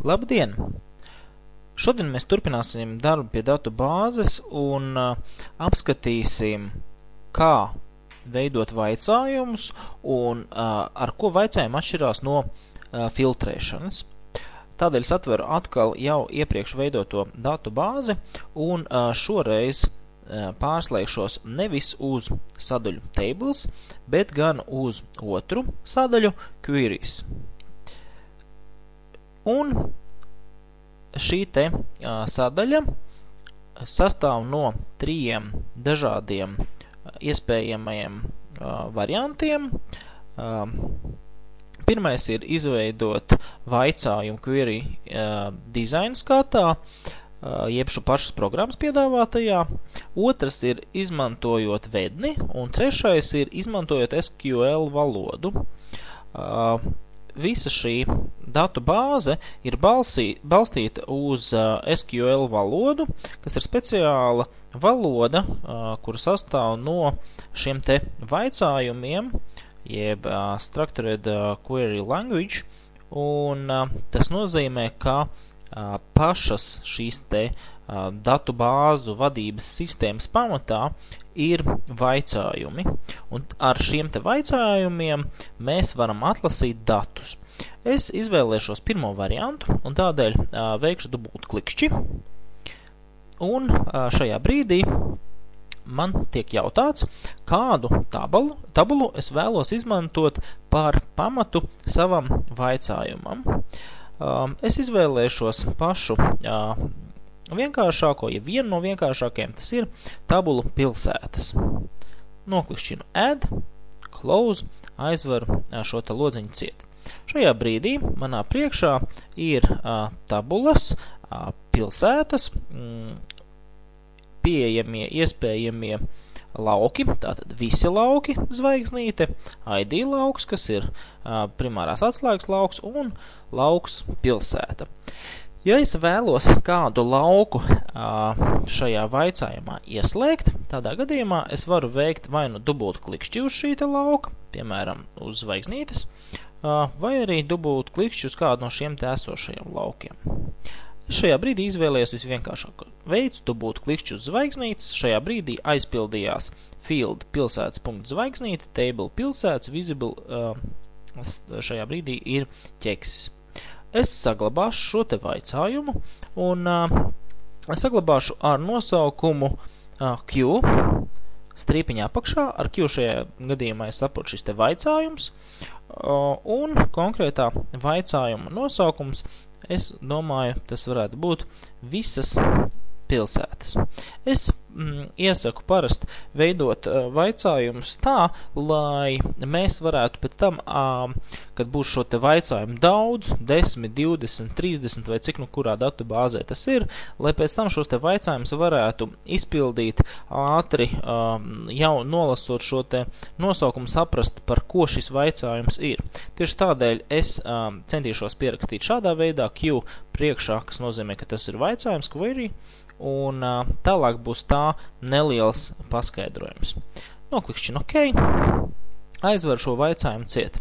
Labdien! Šodien mēs turpināsim darbu pie datu bāzes un apskatīsim, kā veidot vaicājumus un ar ko vaicājumi atšķirās no filtrēšanas. Tādēļ es atveru atkal jau iepriekš veidoto datu bāzi un šoreiz pārslēgšos nevis uz sadaļu tables, bet gan uz otru sadaļu queries. Un šī te sadaļa sastāv no 3 dažādiem iespējamajiem variantiem. Pirmais ir izveidot vaicājumu query design skatā, jeb šo pašas programmas piedāvātajā. Otrs ir izmantojot vedni, un trešais ir izmantojot SQL valodu. Visa šī datu bāze ir balstīta uz SQL valodu, kas ir speciāla valoda, kura sastāv no šiem te vaicājumiem, jeb Structured Query Language, un tas nozīmē, ka pašas šīs te datu bāzu vadības sistēmas pamatā ir vaicājumi, un ar šiem te vaicājumiem mēs varam atlasīt datus. Es izvēlēšos pirmo variantu, un tādēļ veikšu dubultklikšķi, un šajā brīdī man tiek jautāts, kādu tabulu es vēlos izmantot par pamatu savam vaicājumam. Es izvēlēšos pašu vienkāršāko, ja vienu no vienkāršākajiem, tas ir tabulu pilsētas. Noklikšķinu add, close, aizveru šo te lodziņu ciet. Šajā brīdī manā priekšā ir tabulas, pilsētas, pieejamie, iespējamie lauki, tātad visi lauki, zvaigznīte, ID lauks, kas ir primārās atslēgas lauks, un lauks pilsēta. Ja es vēlos kādu lauku šajā vaicājumā ieslēgt, tādā gadījumā es varu veikt vai nu dubultklikšķi uz šī te lauka, piemēram, uz zvaigznītes, vai arī dubultklikšķi uz kādu no šiem te esošajiem laukiem. Šajā brīdī izvēlējos visvienkāršāko veidu, dubultklikšķi uz zvaigznītes, šajā brīdī aizpildījās field pilsētas.zvaigznīte, table pilsētas, visible, šajā brīdī ir ķeksis. Es saglabāšu šo te vaicājumu un saglabāšu ar nosaukumu Q, strīpiņā apakšā, ar Q šajā gadījumā es saprotu šis te vaicājums, un konkrētā vaicājuma nosaukums, es domāju, tas varētu būt visas pilsētas. Es iesaku parasti veidot vaicājumus tā, lai mēs varētu pēc tam, kad būs šo te vaicājumu daudz, 10, 20, 30 vai cik nu kurā datu bāzē tas ir, lai pēc tam šos te vaicājumus varētu izpildīt ātri, jau nolasot šo te nosaukumu saprast, par ko šis vaicājums ir. Tieši tādēļ es centīšos pierakstīt šādā veidā Q priekšā, kas nozīmē, ka tas ir vaicājums, query, un tālāk būs tā neliels paskaidrojums. Noklikšķinu OK, aizveru šo vaicājumu ciet.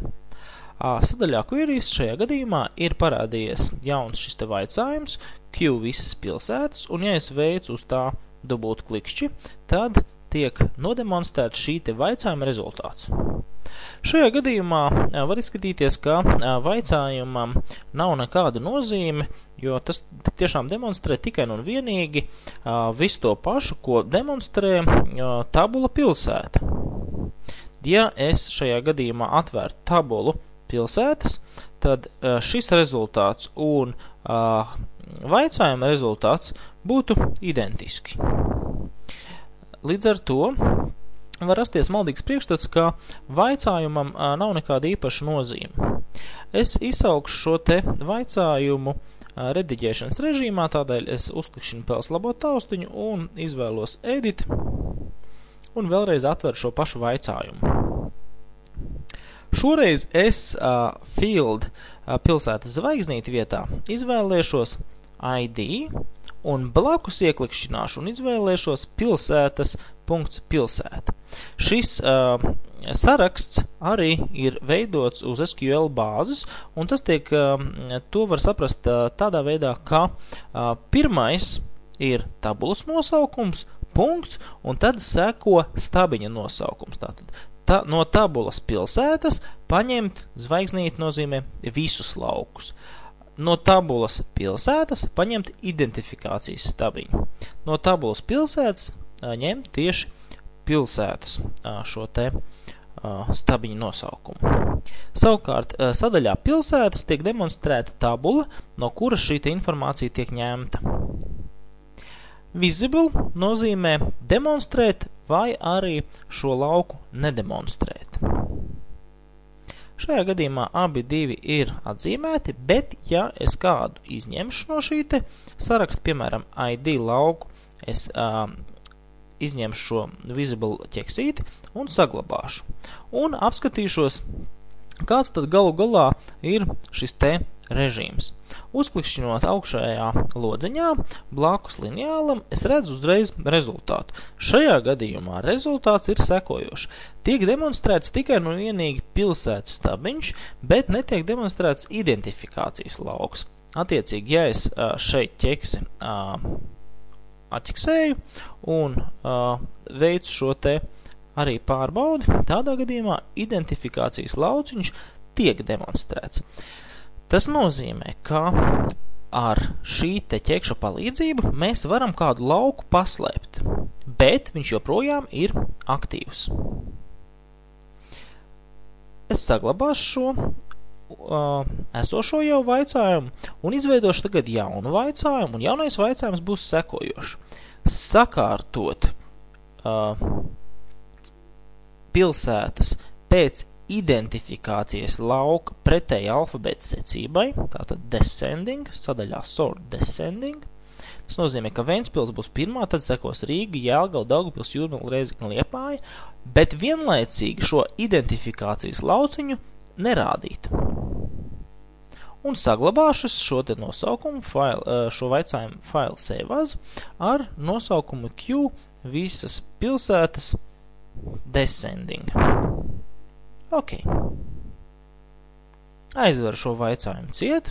Sadaļā queries šajā gadījumā ir parādījies jauns šis te vaicājums, Q visas pilsētas, un ja es veicu uz tā dubultklikšķi, tad tiek nodemonstrēts šī te vaicājuma rezultāts. Šajā gadījumā var izskatīties, ka vaicājumam nav nekāda nozīme, jo tas tiešām demonstrē tikai un vienīgi visu to pašu, ko demonstrē tabula pilsēta. Ja es šajā gadījumā atvērtu tabulu pilsētas, tad šis rezultāts un vaicājuma rezultāts būtu identiski. Līdz ar to var rasties maldīgs priekšstats, ka vaicājumam nav nekāda īpaša nozīme. Es izsaukšu šo te vaicājumu rediģēšanas režīmā, tādēļ es uzklikšķinu pels labot taustiņu un izvēlos edit un vēlreiz atveru šo pašu vaicājumu. Šoreiz es field pilsētas zvaigznīti vietā izvēlēšos ID un blakus ieklikšķināšu un izvēlēšos pilsētas punkts pilsēta. Šis saraksts arī ir veidots uz SQL bāzes, un tas to var saprast tādā veidā, ka pirmais ir tabulas nosaukums, punkts, un tad seko stabiņa nosaukums. Tātad no tabulas pilsētas paņemt zvaigznīti nozīmē visus laukus. No tabulas pilsētas paņemt identifikācijas stabiņu. No tabulas pilsētas ņemt tieši pilsētas šo te stabiņu nosaukumu. Savukārt, sadaļā pilsētas tiek demonstrēta tabula, no kuras šī informācija tiek ņemta. Visible nozīmē demonstrēt vai arī šo lauku nedemonstrēt. Šajā gadījumā abi divi ir atzīmēti, bet ja es kādu izņemšu no šī te saraksta, piemēram, ID lauku, es izņemšu šo visible ķeksīti un saglabāšu. Un apskatīšos, kāds tad galu galā ir šis te režīms. Uzklikšķinot augšējā lodziņā, blakus lineālam, es redzu uzreiz rezultātu. Šajā gadījumā rezultāts ir sekojošs. Tiek demonstrēts tikai un vienīgi pilsētu stabiņš, bet netiek demonstrēts identifikācijas lauks. Attiecīgi, ja es šeit ķeksi atķeksēju un veicu šo te arī pārbaudi, tādā gadījumā identifikācijas lauciņš tiek demonstrēts. Tas nozīmē, ka ar šī te ķekša palīdzību mēs varam kādu lauku paslēpt, bet viņš joprojām ir aktīvs. Es saglabāšu šo esošo jau vaicājumu un izveidošu tagad jaunu vaicājumu, un jaunais vaicājums būs sekojošs. Sakārtot pilsētas pēc identifikācijas lauka pretēji alfabēta secībai, tātad descending, sadaļā sort descending. Tas nozīmē, ka Ventspils būs pirmā, tad sekos Rīga, Jelgava, Daugavpils, Jūrmala, Rēzekne, Liepāja, bet vienlaicīgi šo identifikācijas lauciņu nerādīt. Un saglabāšu šo te nosaukumu, šo vaicājumu file save as ar nosaukumu Q visas pilsētas descending. Ok. Aizveru šo vaicājumu ciet,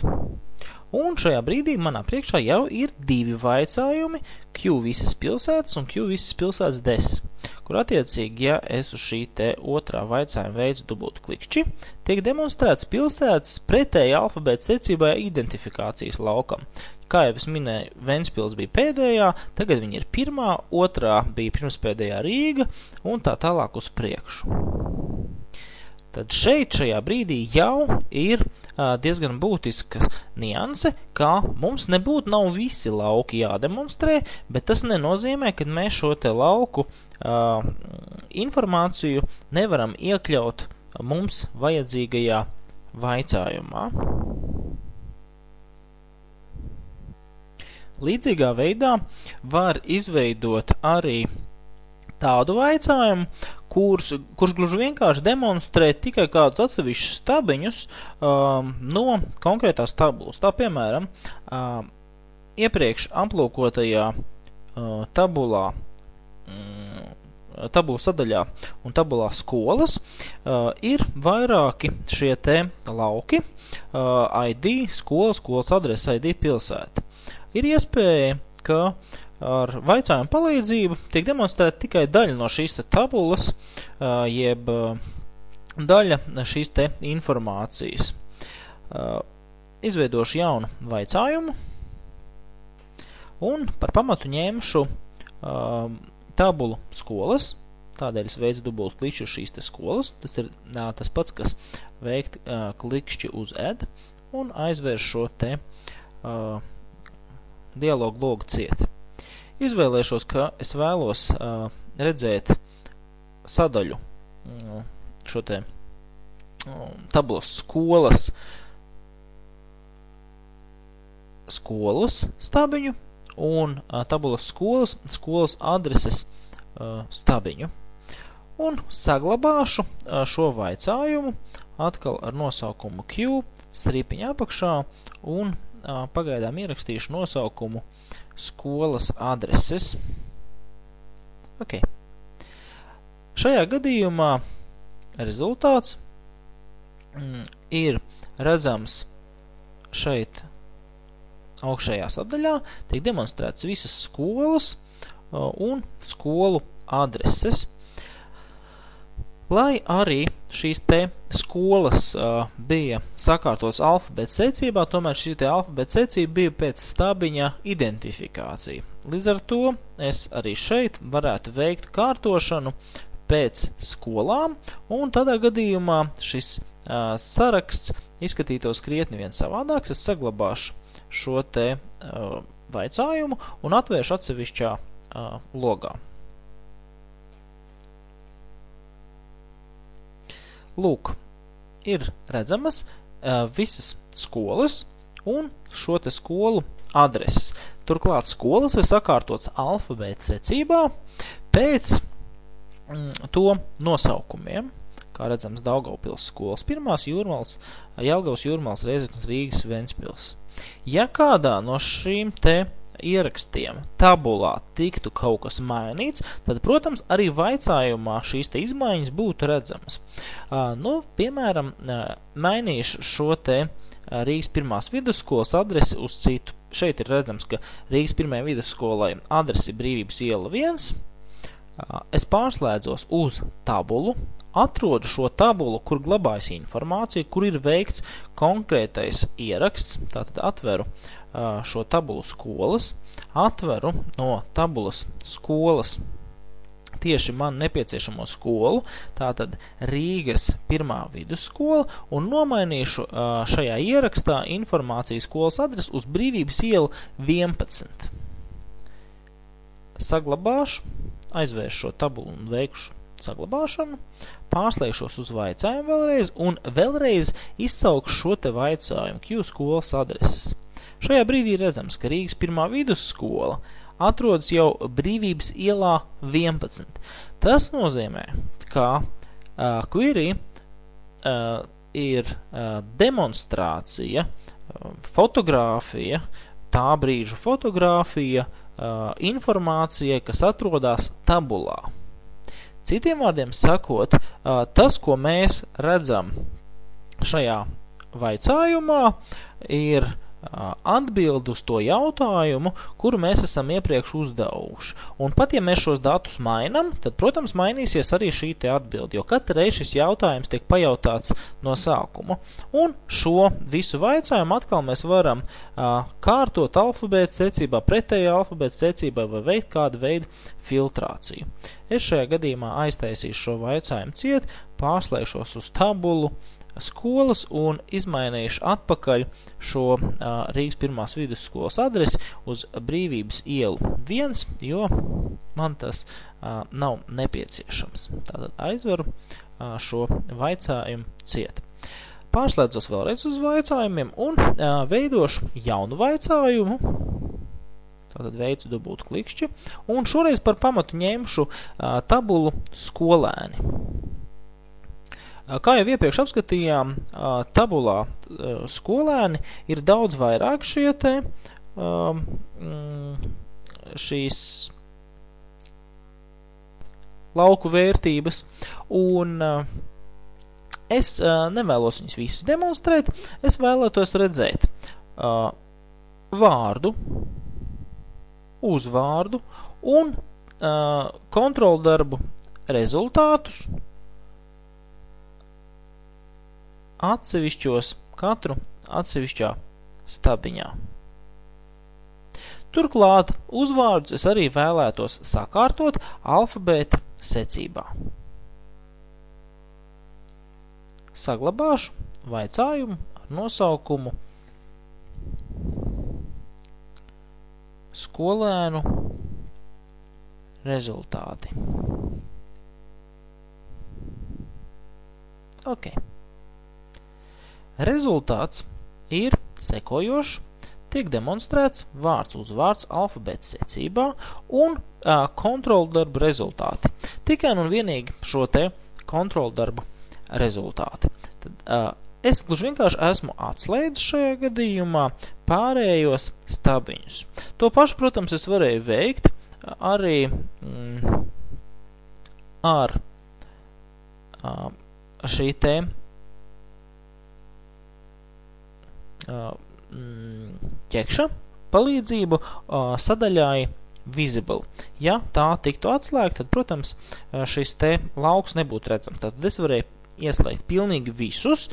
un šajā brīdī manā priekšā jau ir divi vaicājumi, Q visas pilsētas un Q visas pilsētas des, kur attiecīgi, ja es uz šī te otrā vaicājuma veicu dubultu klikšķi, tiek demonstrēts pilsētas pretēji alfabēta secībai identifikācijas laukam. Kā jau es minēju, Ventspils bija pēdējā, tagad viņa ir pirmā, otrā bija pirmspēdējā Rīga, un tā tālāk uz priekšu. Tad šajā brīdī jau ir diezgan būtiska nianse, ka mums nebūtu nav visi lauki jādemonstrē, bet tas nenozīmē, ka mēs šo te lauku informāciju nevaram iekļaut mums vajadzīgajā vaicājumā. Līdzīgā veidā var izveidot arī tādu vaicājumu, kurš gluži vienkārši demonstrē tikai kādus atsevišķus stabiņus no konkrētās tabulas. Tā, piemēram, iepriekš aplūkotajā tabulu sadaļā un tabulā skolas ir vairāki šie te lauki, ID, skolas adrese, ID, pilsēta. Ir iespēja, ka ar vaicājumu palīdzību tiek demonstrēta tikai daļa no šīs te tabulas, jeb daļa šīs te informācijas. Izveidošu jaunu vaicājumu un par pamatu ņemšu tabulu skolas, tādēļ es veicu dubultu klikšķi uz šīs te skolas. Tas ir tas pats, kas veikt klikšķi uz add un aizvērš šo te dialogu logu ciet. Izvēlēšos, ka es vēlos redzēt sadaļu šo te tabulas skolas stabiņu un tabulas skolas adreses stabiņu. Un saglabāšu šo vaicājumu atkal ar nosaukumu Q, strīpiņa apakšā un pagaidām ierakstīšu nosaukumu skolas adreses. Ok. Šajā gadījumā rezultāts ir redzams šeit augšējā sadaļā, tiek demonstrēts visas skolas un skolu adreses. Lai arī šīs te skolas bija sakārtotas alfabēta secībā, tomēr šī te alfabēta secība bija pēc stabiņa identifikācija. Līdz ar to es arī šeit varētu veikt kārtošanu pēc skolām, un tādā gadījumā šis saraksts izskatītos krietni vien savādāks. Es saglabāšu šo te vaicājumu un atvēršu atsevišķā logā. Lūk, ir redzamas visas skolas un šo te skolu adreses. Turklāt skolas ir sakārtotas alfabēta secībā pēc to nosaukumiem. Kā redzams, Daugavpils skolas pirmās, Jūrmals, Jelgavas, Jūrmals, Rēzeknes, Rīgas, Ventspils. Ja kādā no šīm te ierakstiem tabulā tiktu kaut kas mainīts, tad, protams, arī vaicājumā šīs te izmaiņas būtu redzamas. Piemēram, mainīšu šo te Rīgas pirmās vidusskolas adresi uz citu. Šeit ir redzams, ka Rīgas pirmajai vidusskolai adresi Brīvības iela 1. Es pārslēdzos uz tabulu, atrodu šo tabulu, kur glabājas informācija, kur ir veikts konkrētais ieraksts, tātad atveru šo tabulu skolas, atveru no tabulas skolas tieši man nepieciešamo skolu, tātad Rīgas pirmā vidusskola, un nomainīšu šajā ierakstā informācijas skolas adresi uz Brīvības ielu 11. Saglabāšu, aizvēršu šo tabulu un veikšu saglabāšanu, pārslēgšos uz vaicājumu vēlreiz un vēlreiz izsaukšu šo te vaicājumu Q skolas adreses. Šajā brīdī redzams, ka Rīgas pirmā vidusskola atrodas jau Brīvības ielā 11. Tas nozīmē, ka query ir demonstrācija, fotogrāfija, tā brīža fotogrāfija, informācija, kas atrodas tabulā. Citiem vārdiem sakot, tas, ko mēs redzam šajā vaicājumā, ir atbild uz to jautājumu, kuru mēs esam iepriekš uzdevuši. Un pat, ja mēs šos datus mainam, tad, protams, mainīsies arī šī te atbildi, jo katru reizi šis jautājums tiek pajautāts no sākuma. Un šo visu vaicājumu atkal mēs varam kārtot alfabēta secībā, pretējā alfabēta secībā vai veikt kādu veidu filtrāciju. Es šajā gadījumā aiztaisīšu šo vaicājumu ciet, pārslēgšos uz tabulu skolas un izmainīšu atpakaļ šo Rīgas pirmās vidusskolas adresi uz Brīvības ielu 1, jo man tas nav nepieciešams. Tātad aizveru šo vaicājumu ciet. Pārslēdzos vēlreiz uz vaicājumiem un veidošu jaunu vaicājumu. Tātad veicu dubultu klikšķi un šoreiz par pamatu ņemšu tabulu skolēni. Kā jau iepriekš apskatījām, tabulā skolēni ir daudz vairāk šie te šīs lauku vērtības, un es nevēlos viņus visas demonstrēt, es vēlētos redzēt vārdu, uzvārdu un kontroldarbu rezultātus atsevišķos, katru atsevišķā stabiņā. Turklāt uzvārdus es arī vēlētos sakārtot alfabēta secībā. Saglabāšu vaicājumu ar nosaukumu skolēnu rezultāti. Ok. Rezultāts ir sekojošs, tiek demonstrēts vārds uzvārds alfabēta secībā un kontroldarbu rezultāti. Tikai un vienīgi šo te kontroldarbu rezultāti. Tad, es gluži vienkārši esmu atslēdzis šajā gadījumā pārējos stabiņus. To pašu, protams, es varēju veikt arī ar šī te ķekša palīdzību sadaļai visible. Ja tā tiktu atslēgta, tad, protams, šis te lauks nebūtu redzams. Tātad es varēju ieslēgt pilnīgi visus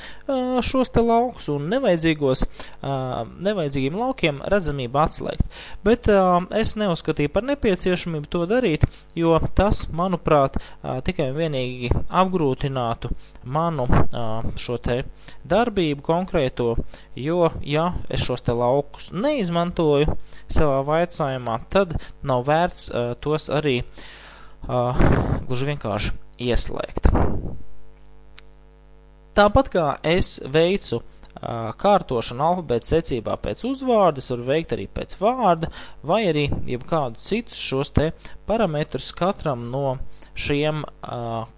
šos te laukus un nevajadzīgiem laukiem redzamību atslēgt. Bet es neuzskatīju par nepieciešamību to darīt, jo tas, manuprāt, tikai un vienīgi apgrūtinātu manu šo te darbību konkrēto, jo, ja es šos te laukus neizmantoju savā vaicājumā, tad nav vērts tos arī gluži vienkārši ieslēgt. Tāpat kā es veicu kārtošanu alfabēta secībā pēc uzvārda, es varu veikt arī pēc vārda, vai arī jebkādu citus šos te parametrus katram no šiem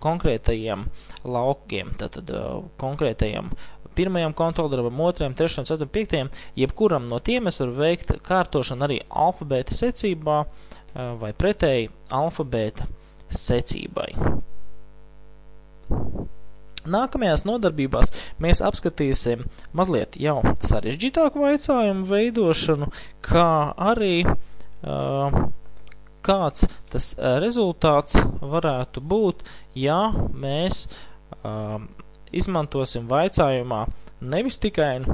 konkrētajiem laukiem, tātad konkrētajiem pirmajam kontroldarbam, otrajam, trešajam, ceturtajam, piektajam, jebkuram no tiem es varu veikt kārtošanu arī alfabēta secībā vai pretēji alfabēta secībai. Nākamajās nodarbībās mēs apskatīsim mazliet jau sarežģītāku vaicājumu veidošanu, kā arī kāds tas rezultāts varētu būt, ja mēs izmantosim vaicājumā nevis tikai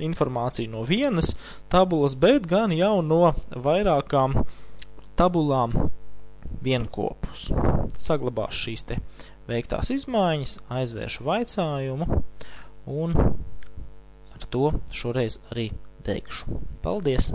informāciju no vienas tabulas, bet gan jau no vairākām tabulām vienkopus. Saglabās šīs te veiktās izmaiņas, aizvēršu vaicājumu un ar to šoreiz arī beigšu. Paldies!